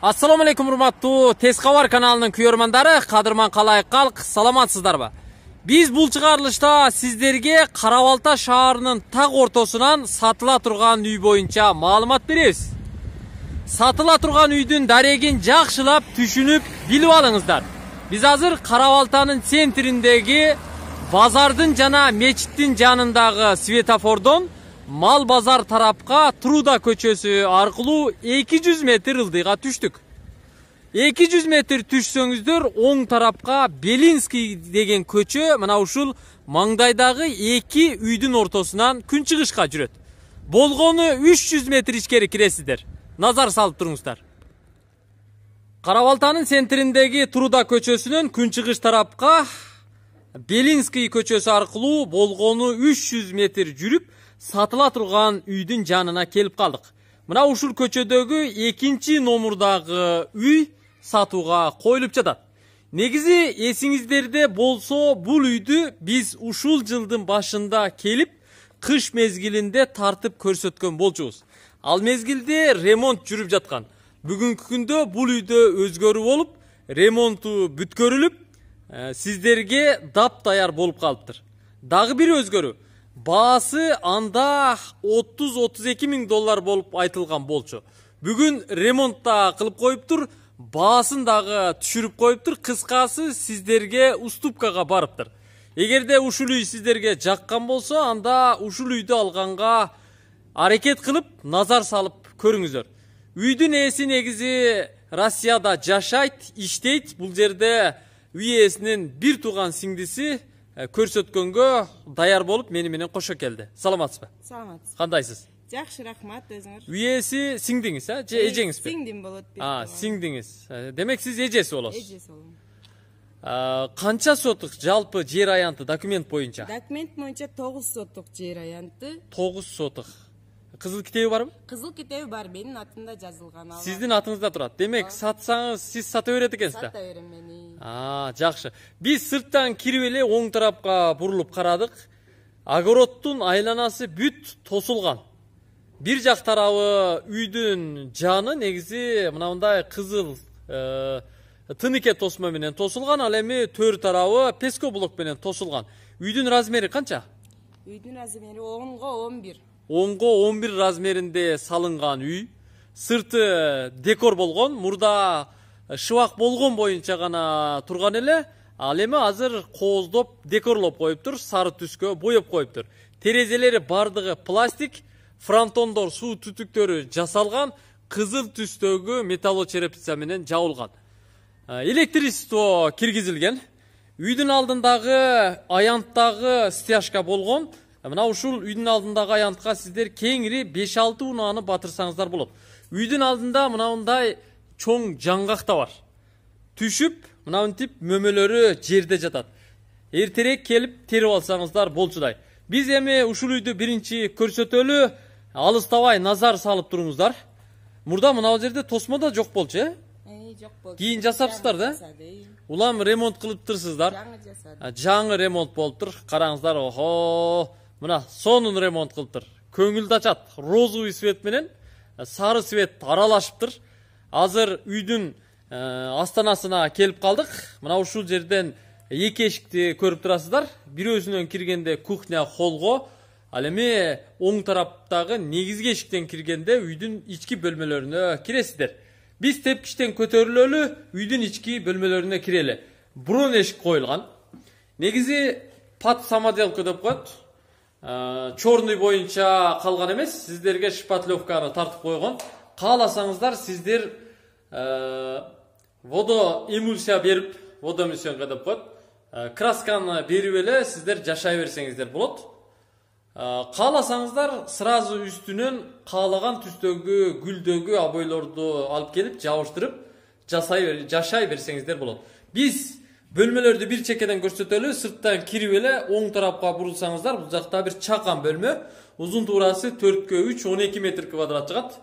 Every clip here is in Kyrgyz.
Assalomu alaykum urmatуу Tez Xabar kanalынын kuyөрмандары, кадырман калайык калк, саламатсыздарбы? Биз бул чыгарылышта сиздерге Карабалта шаарынын так ортосунан сатыла турган үй боюнча маалымат беребиз. Сатыла турган үйдүн дарегин жакшылап түшүнүп билип алыңыздар. Биз азыр Карабалтанын центриндеги базардын жана мечиттин жанындагы светофордон Мал базар тарапка Труда көчөсү аркылуу 200 метр ылдыйга түштүк. 200 метр түшсөңүздөр оң тарапка Белинский деген көчө мына ушул маңдайдагы эки үйдүн ортосунан күнчыгышка жүрөт. Болгону 300 метр ичкери киресиздер. Назар салып туруңуздар. Карабалтанын центриндеги Труда көчөсүнөн күнчыгыш тарапка Белинский көчөсү аркылуу болгону 300 метр жүрүп сатыла турган үйдүн жанына келип калдык. Мына ушул көчөдөгү экинчи номурдагы үй сатууга коюлуп жатат. Негизи эсиңиздерде болсо, бул үйдү биз ушул жылдын башында келип, кыш мезгилинде тартып көрсөткөн болчубуз. Ал мезгилде ремонт жүрүп жаткан. Бүгүнкү күндө бул үйдө өзгөрүү болуп, ремонту бүткөрүлүп, сиздерге дап-даяр болуп калыптыр. Дагы бир өзгөрүү. Баасы анда 30-32 миң доллар болуп айтылган болчу. Бүгүн ремонтта кылып коюптур, баасын дагы түшүрүп коюптур. Кыскасы сиздерге уступкага барыптыр. Эгерде ушул үй сиздерге жаккан болсо, анда ушул үйдү алганга аракет кылып, назар салып көрүңүздөр. Үйдүн ээси негизи Россияда жашайт, иштейт. Бул жерде үй ээсинин бир тууган сиңдиси көрсөткөнгө даяр болуп мени менен кошо келди. Саламатсызбы? Саламатсыз. Кандайсыз? Жакшы, рахмат, өзүңөр. Үй ээси сиңдиңиз, же эжеңизби? Сиңдим болот. Сиңдиңиз. Демек сиз эжеси болосуз. Эжеси болом. Канча сотук жалпы жер аянты документ боюнча? Документ боюнча 9 сотук жер аянты. 9 сотук. Кызыл китеби барбы? Кызыл китеби бар, менин атымда жазылган. Сиздин атыңызда турат. Демек сатсаңыз сиз сата берет экенсиз да? Сата берем мени. Жакшы. Биз сырттан кирип эле оң тарапка бурулуп карадык. Огороддун айланасы бүт тосулган. Бир жак тарабы үйдүн жаны негизи мындай кызыл тыныке тосма менен тосулган, ал эми төр тарабы пескоблок менен тосулган. Үйдүн размери канча? Үйдүн размери 10го 11. 10го 11 размеринде салынган үй. Сырты декор болгон, мурда шыбак болгон боюнча гана турган эле, ал эми азыр кооздоп декорлоп коюптур, сары түскө боеп коюптур. Терезелери бардыгы пластик, фронтондор суу түтүктөрү жасалган, кызыл түстөгү металлочерепица менен жабылган. Электричество киргизилген. Үйдүн алдындагы аянттагы стяжка болгон. Мына ушул үйдүн алдындагы аянтка сиздер кеңири 5-6 унааны батырсаңыздар болот. Үйдүн алдында мындай чоң жаңгак да бар. Түшүп, мынантип мөмөлөрү жерде жатат. Эртерээк келип терип алсаңыздар болчудай. Биз эми ушул үйдү биринчи көрсөтөлү, алыстабай назар салып туруңуздар. Мурда мына жерде тосмо да жок болчу, Жок болчу. Кийин жасапсыздар да? Улам ремонт кылыптырсыздар. Жаңы жасадым. Жаңы ремонт болуптур. Караңыздар, охо. Мына сонун ремонт кылыптыр. Көңүлдү ачат. Розовый свет менен сары свет аралашыптыр. Азыр үйдүн астанасына келип калдык. Мына ушул жерден эки эшикти көрүп турасыздар. Бирөөсүнөн киргенде кухня, холго, ал эми оң тараптагы негизги эшиктен киргенде үйдүн ички бөлмөлөрүнө киресиздер. Биз тепкичтен көтөрүлөлү, үйдүн ички бөлмөлөрүнө кирели. Бурун эшик коюлган. Негизи пат самоделка деп коет. Чорный боюнча калган эмес, сиздерге шпатлевканы тартып койгон. Кааласаңыздар сиздер водоэмульсия берип, водоэмульсия деп коет. Красканы берип эле сиздер жашай берсеңиздер болот. Кааласаңыздар сразу үстүнөн каалаган түстөгү, гүлдөгү обойлорду алып келип жабыштырып жашай берсеңиздер болот. Биз бөлмөлөрдү бир чекеден көрсөтөлү, сырттан кирип эле оң тарапка бурулсаңыздар, бул жакта бир чакан бөлмө, узун туурасы 4x3 12 метр квадрат чыгат.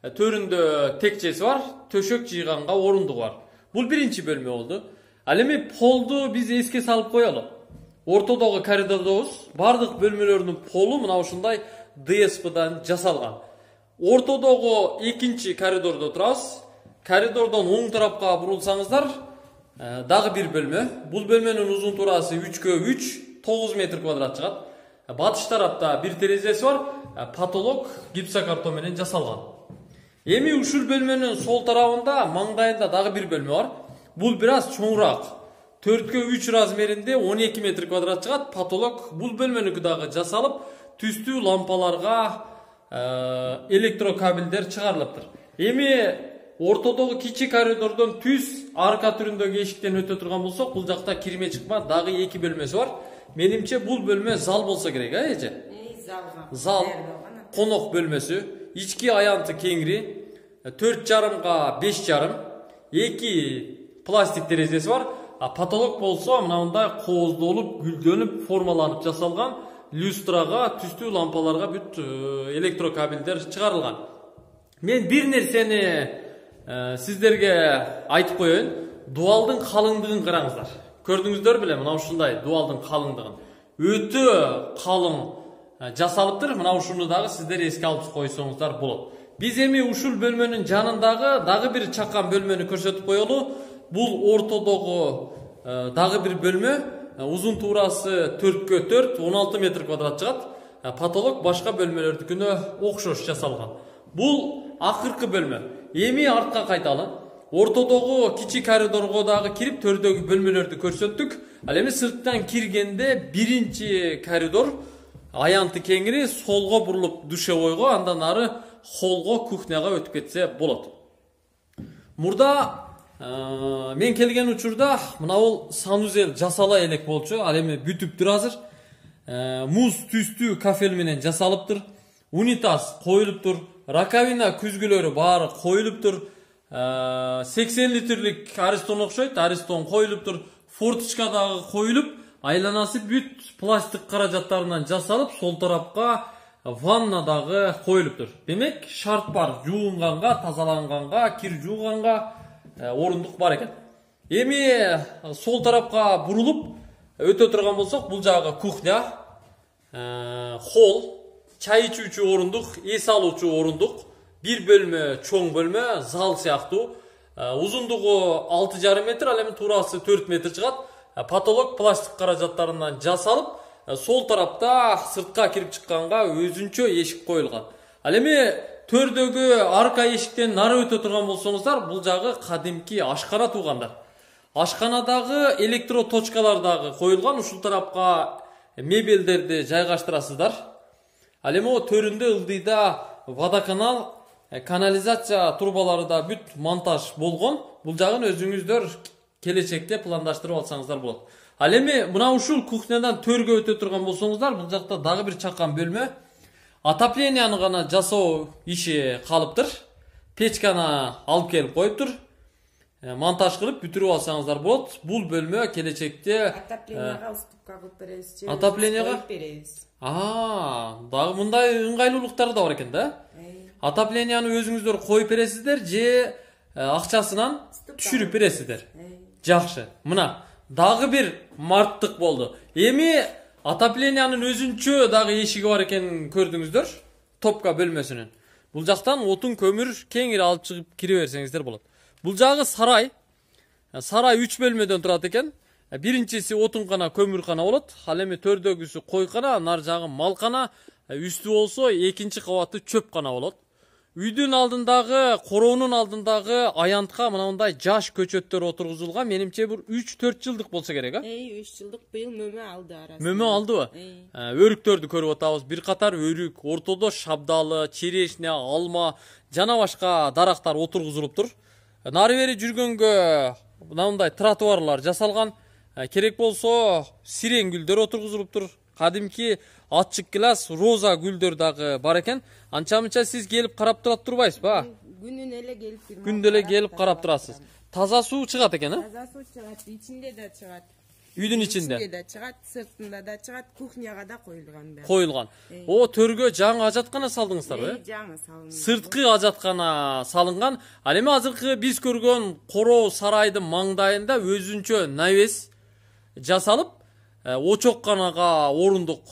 Төрүндө текчеси бар, төшөк жыйганга орундугу бар. Бул биринчи бөлмө болду. Ал эми полду биз эске салып коелу. Ортодогу коридордобуз бардык бөлмөлөрдүн полу мына ушундай ДСПдан жасалган. Ортодогу экинчи коридордо турабыз. коридордон оң тарапка бурулсаңыздар, дагы бир бөлмө. Бул бөлмөнүн узун туурасы 3x3, 9 метр квадрат чыгат. Батыш тарапта бир терезеси бар, потолок гипсокартон менен жасалган. Эми ушул бөлмөнүн сол тарабында, маңдайында дагы бир бөлмө бар. Бул бир аз чоңураак. 4x3 размеринде 12 метр квадрат чыгат. Потолок бул бөлмөнүкү дагы жасалып, түстүү лампаларга электрокабелдер чыгарылыптыр. Эми ортодогу кичи коридордон түз арка түрүндөгү эшиктен өтө турган болсок, бул жакта кирме чыкма дагы 2 бөлмөсү бар. Менимче бул бөлмө зал болсо керек, эже? Зал, конок бөлмөсү, ички аянты кеңири, 4,5га 5,5, 2 пластик терезеси бар. Потолок болсо мындай кооздолуп, гүлдөнүп, формаланып жасалган, люстрага, түстүү лампаларга бүт электрокабелдер чыгарылган. Мен бир нерсени сиздерге айтып коеюн. Дуалдын калыңдыгын караңыздар. Көрдүңүздөр беле, мына ушундай дуалдын калыңдыгын. Өтө калың жасалыптыр. Мына ушуну дагы сиздер эске алып койсоңуздар болот. Биз эми ушул бөлмөнүн жанындагы дагы бир чакан бөлмөнү көрсөтүп коелу. Бул ортодогу дагы бир бөлмө. Узун туурасы 4x4, 16 метр квадрат чыгат. Потолок башка бөлмөлөрдүкүнө окшош жасалган. Бул акыркы бөлмө. Эми артка кайталы. Ортодогу кичи коридорго дагы кирип, төрдөгү бөлмөлөрдү көрсөттүк. Ал эми сырттан киргенде биринчи коридор аянты кеңири, солго бурулуп душевойго, андан ары холго, кухняга өтүп кетсе болот. Мурда мен келген учурда мына бул санузел жасала элек болчу. Ал эми бүтүптүр азыр. Муз түстүү кафель менен жасалыптыр. Унитаз коюлуптур. Раковина күзгүлөрү баары коюлуптур. 80 литрлик Аристон окшойт. Аристон коюлуптур. Форточка дагы коюлуп, айланасы бүт пластик каражаттарынан жасалып, сол тарапка ванна дагы коюлуптур. Демек, шарт бар. Жуунганга, тазаланганга, кир жууганга орундук бар экен. Эми сол тарапка бурулуп өтө турган болсок, бул жагы кухня, холл, чай ичүүчү орундук, эс алуучу орундук, бир бөлмө, чоң бөлмө, зал сыяктуу. Узундугу 6,5 метр, ал эми туурасы 4 метр чыгат. Потолок пластик каражаттарынан жасалып, сол тарапта сыртка кирип чыкканга өзүнчө эшик коюлган. Ал эми төрдөгү арка эшиктен нары өтө турган болсоңуздар, бул жагы кадимки ашкана туугандар. Ашканадагы электроточкалар дагы коюлган. Ушул тарапка мебелдерди жайгаштырасыздар. Ал эми төрүндө ылдыйда водоканал, канализация турбалары да бүт монтаж болгон. Бул жагын өзүңүздөр келечекте пландаштырып алсаңыздар болот. Ал эми мына ушул кухнядан төргө өтө турган болсоңуздар, бул жакта дагы бир чакан бөлмө. Отопленияны гана жасоо иши калыптыр. Печканы алып келип коюптур. Монтаж кылып бүтүрүп алсаңыздар болот. Бул бөлмө келечекте Отопленияга уступка кылып беребиз. Отопленияга беребиз. Дагы мындай ыңгайлуулуктары да бар экен да. Отопленияны өзүңүздөр коюп бересиздер же акчасынан түшүрүп бересиздер. Жакшы. Мына дагы бир марттык болду. Эми отоплениянын өзүнчө дагы эшиги бар экенин көрдүңүздөр. Топка бөлмөсүнүн. Бул жактан отун, көмүр кеңири алып чыгып кире берсеңиздер болот. Бул жагы сарай. Сарай 3 бөлмөдөн турат экен. Биринчиси отункана, көмүркана болот. Ал эми төрдөгүсү койкана, нар жагы малкана, үстү болсо экинчи кабаты чөпкана болот. Үйдүн алдындагы, короонун алдындагы аянтка мындай жаш көчөттөр отургузулган. Менимче бир 3-4 жылдык болсо керек, 3 жылдык быйыл мөмө алды арасында. Мөмө алдыбы? Өрүктөрдү көрүп атабыз. Бир катар өрүк, ортодо шабдалы, черешне, алма, жана башка дарактар отургузулуптур. Нары бери жүргөнгө мындай тротуарлар жасалган. Керек болсо сирен гүлдөр отургузулуптур. Кадимки ачык класс роза гүлдөр дагы бар экен. Анча-мынча сиз келип карап турат турбайсызбы? Күнүнө эле келип турам. Күндө эле келип карап турасыз. Таза суу чыгат экен, Таза суу чыгат, ичинде да чыгат. Үйдүн ичинде. Ичинде да чыгат, сыртында да чыгат, кухняга да коюлган. Коюлган. Төргө жаңы ажаткана салдыңыздарбы? Жаңы салынган. Сырткы ажаткана салынган. Ал эми азыркы биз көргөн короо сарайдын маңдайында өзүнчө навес жасалып, очокканага орундук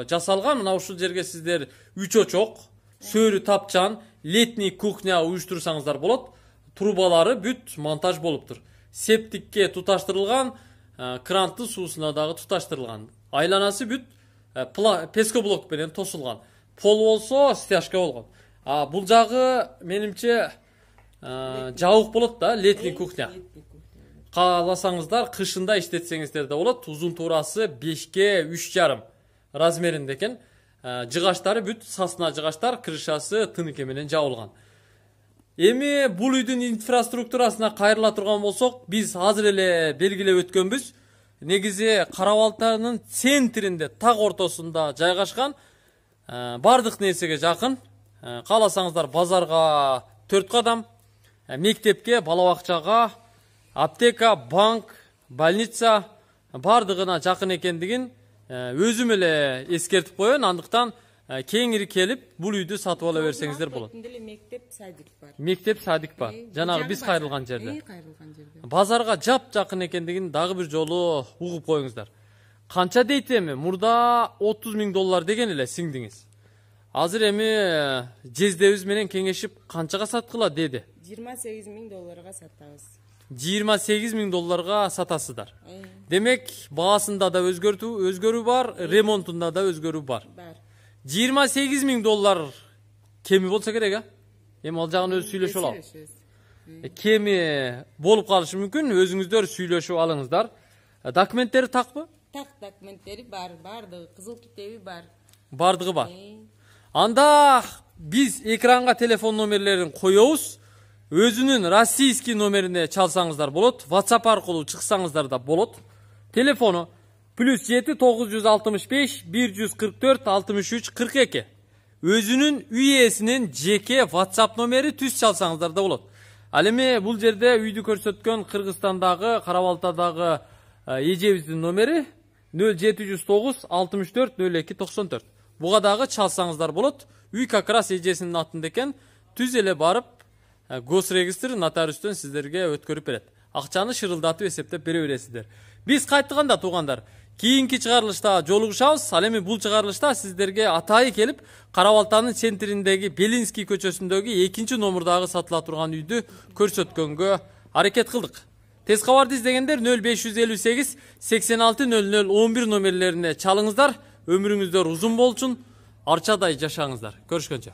жасалган. Мына ушул жерге сиздер 3 очок, сөрү тапчан, летний кухня уюштурсаңыздар болот. трубалары бүт монтаж болуптур. Септикке туташтырылган, кранттын суусуна дагы туташтырылган. Айланасы бүт пескоблок менен тосулган. Пол болсо стяжка болгон. Бул жагы менимче жабык болот да, летний кухня. Кааласаңыздар кышында иштетсеңиздер да болот. Узун туурасы 5ке 3,5 размеринде экен. Жыгаштары бүт сасна жыгаштар, крышасы тыныке менен жабылган. Эми бул үйдүн инфраструктурасына кайрыла турган болсок, биз азыр эле белгилеп өткөнбүз. Негизи Кара Балтанын центринде, так ортосунда жайгашкан, бардык нерсеге жакын. Кааласаңыздар базарга 4 кадам, мектепке, бала бакчага, аптека, банк, больница бардыгына жакын экендигин өзүм эле эскертип коеюн. Андыктан кеңири келип бул үйдү сатып ала берсеңиздер болот. Мектеп, садик бар. Мектеп, садик бар. Жанагы биз кайрылган жерде. Базарга жакын экендигин дагы бир жолу угуп коюңуздар. Канча дейт эми? Мурда $30,000 деген эле сиңдиңиз. Азыр эми жездебиз менен кеңешип канчага саткыла деди? $28,000 сатабыз. $28,000 сатасыздар. Демек, баасында да өзгөрүү бар, ремонтунда да өзгөрүү бар. $28,000 кеми болса керек, эми ал жагын өзү сүйлөшүп алалы. Кеми болуп калышы мүмкүн, өзүңүздөр сүйлөшүп алыңыздар. Документтери такпы? Так, документтери бар, бардыгы, кызыл китеби бар. Бардыгы бар. Анда биз экранга телефон номерлерин коебуз. Өзүнүн российский номерине чалсаңыздар болот, WhatsApp аркылуу чыксаңыздар да болот. Телефону +7 965 144 63 42. Өзүнүн үй ээсинин жеке WhatsApp номери түз чалсаңыздар да болот. Ал эми бул жерде үйдү көрсөткөн Кыргызстандагы, Кара Балтадагы эжебиздин номери 0709 64 02 94. Буга дагы чалсаңыздар болот. Үй как раз эжесинин атында экен. Түз эле барып госрегистр нотариустан сиздерге өткөрүп берет. Акчаны шырылдатып эсептеп бере бересиздер. Биз кайтканда туугандар, кийинки чыгарылышта жолугушабыз. Ал эми бул чыгарылышта сиздерге атайы келип, Кара Балтанын центриндеги Белинский көчөсүндөгү 2 номурдагы сатыла турган үйдү көрсөткөнгө аракет кылдык. Тез кабарды издегендер 0558 86 00 11 номерлерине чалыңыздар. Өмүрүңүздөр узун болчун, арчадай жашаңыздар. Көрүшкөнчө.